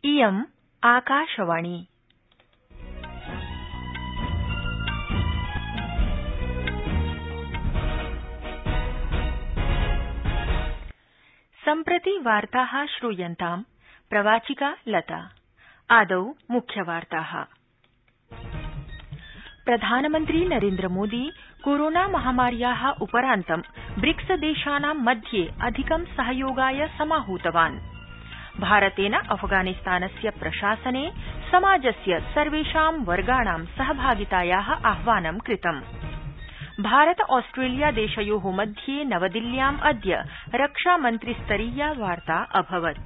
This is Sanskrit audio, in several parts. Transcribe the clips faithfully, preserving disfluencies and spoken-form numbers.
इयम् आकाशवाणी। सम्प्रति वार्ताः श्रूयन्ताम्। प्रवाचिका लता। आदौ मुख्यवार्ताः। प्रधानमन्त्री नरेन्द्रमोदी कोरोना महामार्याः उपरान्तं ब्रिक्स देशानां मध्ये अधिकं सहयोगाय समाहूतवान्। भारतेन अफगानिस्तानस्य प्रशासने समाजस्य सर्वेषां वर्गाणां सहभागितायाः आह्वानं कृतम्। भारत ऑस्ट्रेलिया देशयोः मध्ये नवदिल्ल्याम् अद्य रक्षामन्त्रिस्तरीया वार्ता अभवत्।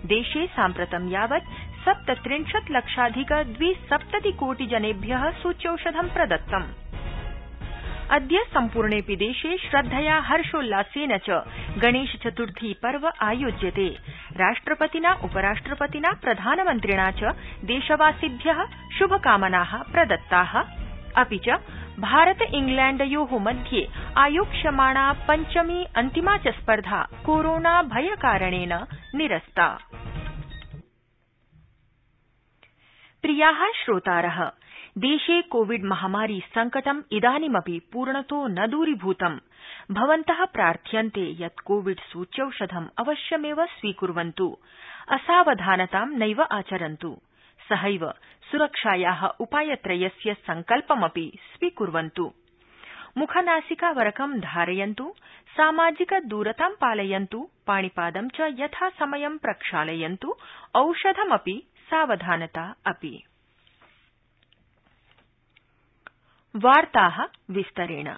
देशे साम्प्रतं यावत् सप्तत्रिंशत् लक्षाधिक द्विसप्तति कोटि जनेभ्यः सूच्यौषधं प्रदत्तम्। अद्य सम्पूर्णेऽपि देशे श्रद्धया हर्षोल्लासेन च गणेश चतुर्थी पर्व आयोज्यते। राष्ट्रपतिना उपराष्ट्रपतिना प्रधानमन्त्रिणा च देशवासिभ्यः शुभकामनाः प्रदत्ताः। अपि च भारत इंग्लैण्डयोः मध्ये आयोक्ष्यमाणा पञ्चमी अन्तिमा च स्पर्धा कोरोना भयकारणेन निरस्ता। प्रियाः श्रोतारः, देशे कोविड महामारी संकटम् इदानीमपि पूर्णतो न दूरीभूतम्। भवन्तः प्रार्थ्यन्ते यत् कोविड सूच्यौषधम् अवश्यमेव स्वीकुर्वन्तु, असावधानतां नैव आचरन्तु, सहैव सुरक्षायाः उपायत्रयस्य सङ्कल्पमपि स्वीकुर्वन्तु। मुखनासिकावरकं धारयन्तु, सामाजिक दूरतां पालयन्तु, पाणिपादं च यथासमयं प्रक्षालयन्तु, औषधमपि सावधानता अपि। वार्ताः विस्तरेण।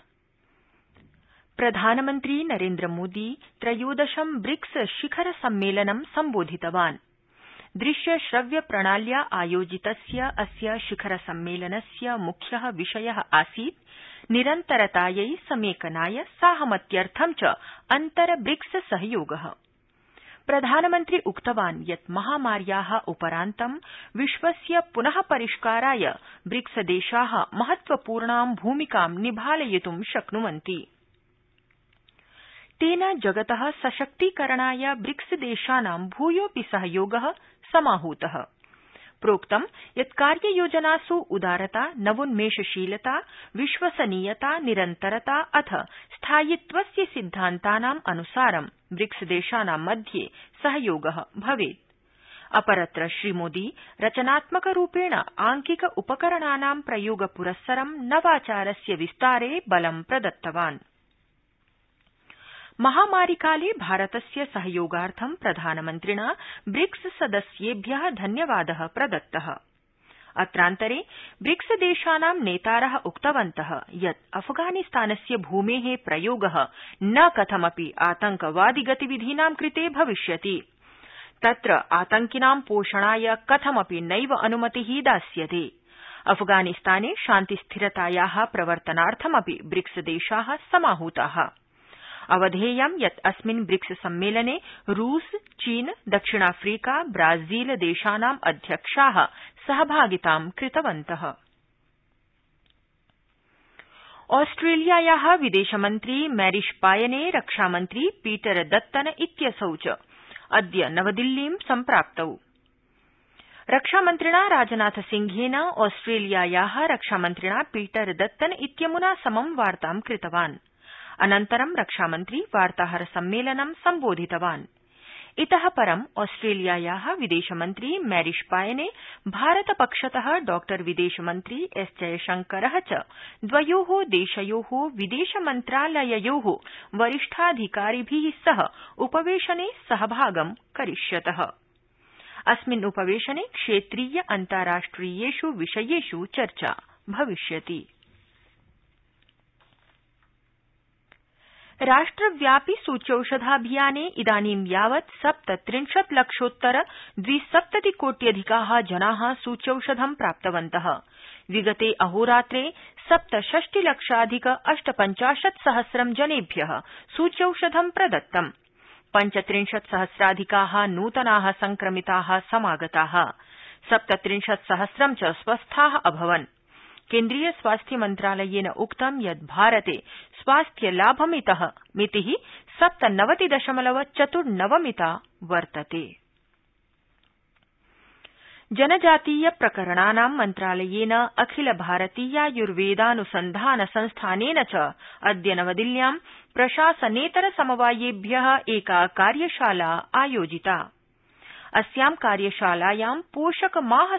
प्रधानमन्त्री नरेन्द्रमोदी त्रयोदशं ब्रिक्स शिखर सम्मेलनं सम्बोधितवान्। दृश्य श्रव्य प्रणाल्या आयोजितस्य अस्य शिखर सम्मेलनस्य मुख्यः विषयः आसीत् निरन्तरतायै समेकनाय साहमत्यर्थं च अन्तर ब्रिक्स सहयोगः। प्रधानमन्त्री उक्तवान् यत् महामार्याः उपरान्तं विश्वस्य पुनः परिष्काराय ब्रिक्स देशाः महत्वपूर्णां भूमिकां निभालयितुं शक्नुवन्ति। तेन जगतः सशक्तीकरणाय ब्रिक्स देशानां भूयोऽपि सहयोगः समाहूतः। प्रोक्तं यत् कार्ययोजनासु उदारता, नवोन्मेषशीलता, विश्वसनीयता, निरन्तरता अथ स्थायित्वस्य सिद्धान्तानाम् अनुसारं ब्रिक्स देशानां मध्ये सहयोगः भवेत्। अपरत्र श्रीमोदी रचनात्मकरूपेण आंकिक उपकरणानां प्रयोगपुरस्सरं नवाचारस्य विस्तारे बलं प्रदत्तवान्। महामारिकाले भारतस्य सहयोगार्थं प्रधानमन्त्रिणा ब्रिक्स सदस्येभ्यः धन्यवादः प्रदत्तः। अत्रान्तरे ब्रिक्स देशानां नेतारः उक्तवन्तः यत् अफगानिस्तानस्य भूमेः प्रयोगः न कथमपि आतंकवादि गतिविधीनां कृते भविष्यति। तत्र आतंकिनां पोषणाय कथमपि नैव अनुमतिः दास्यते। अफगानिस्ताने शान्तिस्थिरतायाः प्रवर्तनार्थमपि ब्रिक्स देशाः समाहूताः। अवधेयं यत् अस्मिन् ब्रिक्स सम्मेलने रूस, चीन, दक्षिणाफ्रीका, ब्राजील देशानाम् अध्यक्षाः सहभागितां कृतवन्तः। ऑस्ट्रेलियायाः विदेशमन्त्री मैरिश पायने रक्षामन्त्री पीटर दत्तन इत्यसौ च अद्य नवदिल्लीं सम्प्राप्तौ। रक्षामन्त्रिणा राजनाथ सिंहेन ऑस्ट्रेलियायाः रक्षामन्त्रिणा पीटर दत्तन इत्यमुना समं वार्तां कृतवान्। अनन्तरं रक्षामन्त्री वार्ताहर सम्मेलनं सम्बोधितवान्। इतः परं ऑस्ट्रेलियायाः विदेशमन्त्री मैरिश पायने भारतपक्षतः डॉ विदेशमन्त्री एस जयशंकरः च द्वयोः देशयोः विदेशमन्त्रालययोः वरिष्ठाधिकारिभिः सह उपवेशने सहभागं करिष्यतः। अस्मिन् उपवेशने क्षेत्रीय अन्ताराष्ट्रियेषु विषयेषु चर्चा भविष्यति। राष्ट्रव्यापि सूच्यौषधाभियाने इदानीं यावत् सप्तत्रिंशत् लक्षोत्तर द्विसप्तति कोट्यधिकाः जनाः सूच्यौषधं प्राप्तवन्तः। विगते अहोरात्रे सप्तषष्टि लक्षाधिक अष्टपञ्चाशत् सहस्रं जनेभ्यः सूच्यौषधं प्रदत्तम्। पञ्चत्रिंशत् सहस्राधिकाः नूतनाः संक्रमिताः समागताः। सप्तत्रिंशत् सहस्रं च स्वस्थाः अभवन्। केन्द्रीय स्वास्थ्य मन्त्रालयेन उक्तं यत् भारते स्वास्थ्यलाभमितः मितिः सप्तनवति दशमलव चतुर्नवमिता वर्तते। जनजातीय प्रकरणानां मन्त्रालयेन अखिल भारतीयायुर्वेदानुसन्धान संस्थानेन च अद्य नवदिल्ल्यां प्रशासनेतर समवायेभ्यः एका कार्यशाला आयोजिता। अस्यां कार्यशालायां पोषक माह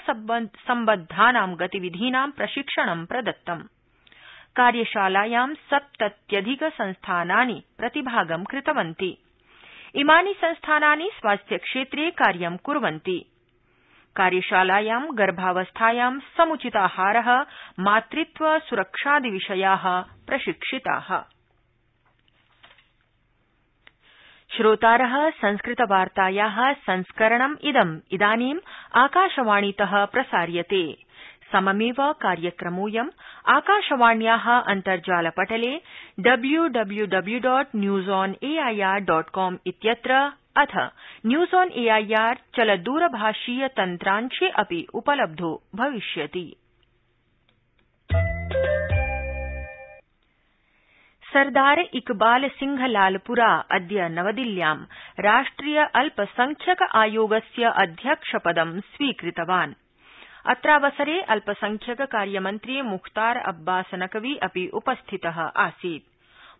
सम्बद्धानां गतिविधीनां प्रशिक्षणं प्रदत्तम्। कार्यशालायां सप्तत्यधिक संस्थानानि प्रतिभागं कृतवन्ति। इमानि संस्थानानि स्वास्थ्यक्षेत्रे कार्यं कुर्वन्ति। कार्यशालायां गर्भावस्थायां समुचिताहारः, मातृत्व सुरक्षादिविषयाः प्रशिक्षिताः। श्रोतारः, संस्कृतवार्तायाः संस्करणम् इदम् इदानीम् आकाशवाणीतः प्रसार्यते। सममेव कार्यक्रमोऽयम् आकाशवाण्याः अन्तर्जालपटले W W W dot news on A I R dot com इत्यत्र अथ news on A I R चलदूरभाषीय तन्त्रांशे अपि उपलब्धो भविष्यति। सरदार इकबाल सिंह लालपुरा अद्य नवदिल्ल्यां राष्ट्रिय अल्पसंख्यक आयोगस्य अध्यक्षपदं स्वीकृतवान्। अत्रावसरे अल्पसंख्यक कार्यमन्त्री मुख्तार अब्बास नकवी अपि उपस्थितः आसीत्।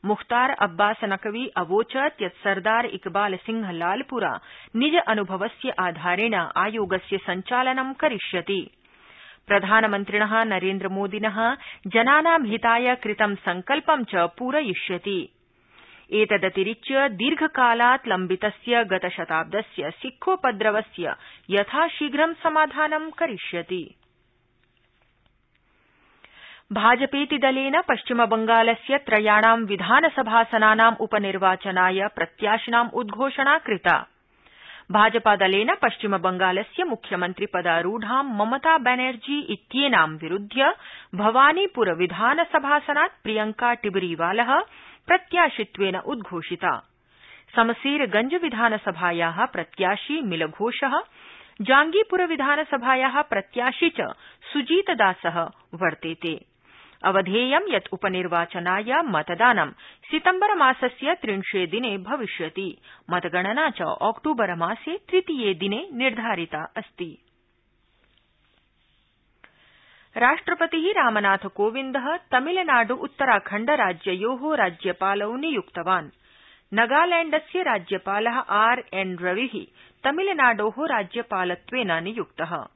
मुख्तार अब्बास नकवी अवोचत् यत् सरदार इकबाल सिंह लालपुरा निज अनुभवस्य आधारेण आयोगस्य सञ्चालनं करिष्यति। प्रधानमन्त्रिणः नरेन्द्रमोदिनः जनानां हिताय कृतं संकल्पं च पूरयिष्यति। एतदतिरिच्य दीर्घकालात् लम्बितस्य गतशताब्दस्य सिखोपद्रवस्य यथाशीघ्रं समाधानं करिष्यति। भाजपेति दलेन पश्चिमबंगालस्य त्रयाणां विधानसभासनानाम् उपनिर्वाचनाय प्रत्याशिनाम् उद्घोषणा कृता। भाजपादलेन पश्चिमबंगालस्य मुख्यमन्त्रिपदारूढां ममता बनर्जी इत्येनां विरुध्य भवानीपुर विधानसभासनात् प्रियंका टिबरीवालः प्रत्याशित्वेन उद्घोषिता। समसेरगंज विधानसभायाः प्रत्याशी मिलघोषः, जांगीपुर विधानसभायाः प्रत्याशी च सुजीतदासः वर्तेते। अवधेयं यत् उपनिर्वाचनाय मतदानं सितम्बर मासस्य त्रिंशे दिने भविष्यति। मतगणना च ऑक्टोबर मासे तृतीये दिने निर्धारिता अस्ति। राष्ट्रपतिः रामनाथ कोविन्दः तमिलनाडु उत्तराखण्ड राज्ययोः राज्यपालौ नियुक्तवान्। नगालैण्डस्य राज्यपालः आर एन रविः तमिलनाडोः राज्यपालत्वेन नियुक्तः।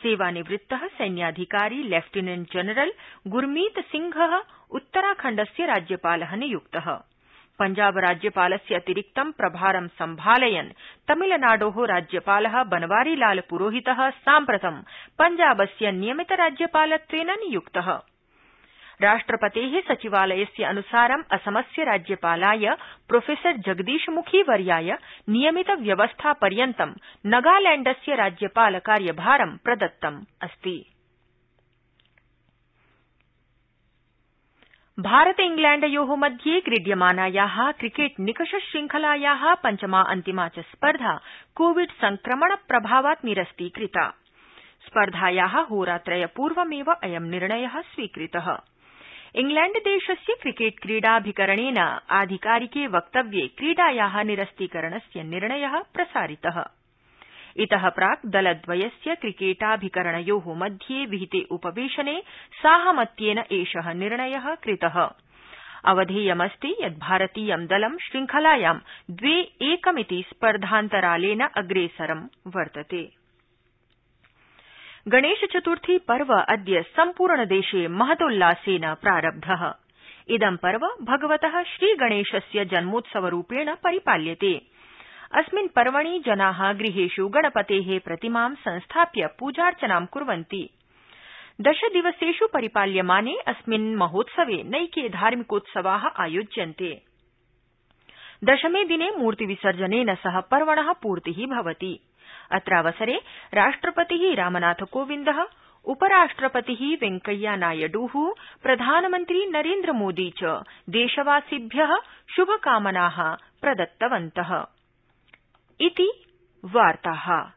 सेवानिवृत्तः सैन्याधिकारी लेफ्टिनेंट जनरल गुरमीत सिंहः उत्तराखण्डस्य राज्यपालः नियुक्तः। पंजाब राज्यपालस्य अतिरिक्तं प्रभारं सम्भालयन् तमिलनाडोः राज्यपालः बनवारीलाल पुरोहितः साम्प्रतं पंजाबस्य नियमित राज्यपालत्वेन नियुक्तः। राष्ट्रपतेः सचिवालयस्य अनुसारं असमस्य राज्यपालाय प्रोफेसर जगदीशमुखी वर्याय नियमित व्यवस्था पर्यन्तं नगालैण्डस्य राज्यपाल कार्यभारं प्रदत्तम् अस्ति। भारत इंग्लैण्डयोः मध्ये क्रीड्यमानायाः क्रिकेट निकष श्रृंखलायाः पञ्चमा अन्तिमा च स्पर्धा कोविड संक्रमण प्रभावात् निरस्तीकृता। स्पर्धायाः होरात्रयपूर्वमेव अयं निर्णयः स्वीकृतः। इंग्लैण्डदेशस्य क्रिकेट क्रीडाभिकरणेन आधिकारिके वक्तव्ये क्रीडायाः निरस्तीकरणस्य निर्णयः प्रसारितः। इतः प्राक् दलद्वयस्य क्रिकेटाभिकरणयोः मध्ये विहिते उपवेशने साहमत्येन एषः निर्णयः कृतः। अवधेयमस्ति यत् भारतीयं दलं श्रृंखलायां द्वे एकमिति स्पर्धान्तरालेन अग्रेसरं वर्तते। गणेशचतुर्थी पर्व अद्य सम्पूर्णदेशे महतोल्लासेन प्रारब्धः। इदं पर्व भगवतः श्रीगणेशस्य जन्मोत्सवरूपेण परिपाल्यते। अस्मिन् पर्वणि जनाः गृहेषु गणपतेः प्रतिमां संस्थाप्य पूजार्चनां कुर्वन्ति। दशदिवसेषु परिपाल्यमाने अस्मिन् महोत्सवे नैके धार्मिकोत्सवाः आयोज्यन्ते। दशमे दिने मूर्तिविसर्जनेन सह पर्वणः पूर्तिः भवति। अत्रावसरे राष्ट्रपतिः रामनाथ कोविन्दः, उपराष्ट्रपतिः वेंकैया नायडुः, प्रधानमन्त्री नरेन्द्रमोदी च देशवासिभ्यः शुभकामनाः प्रदत्तवन्तः। इति वार्ताः।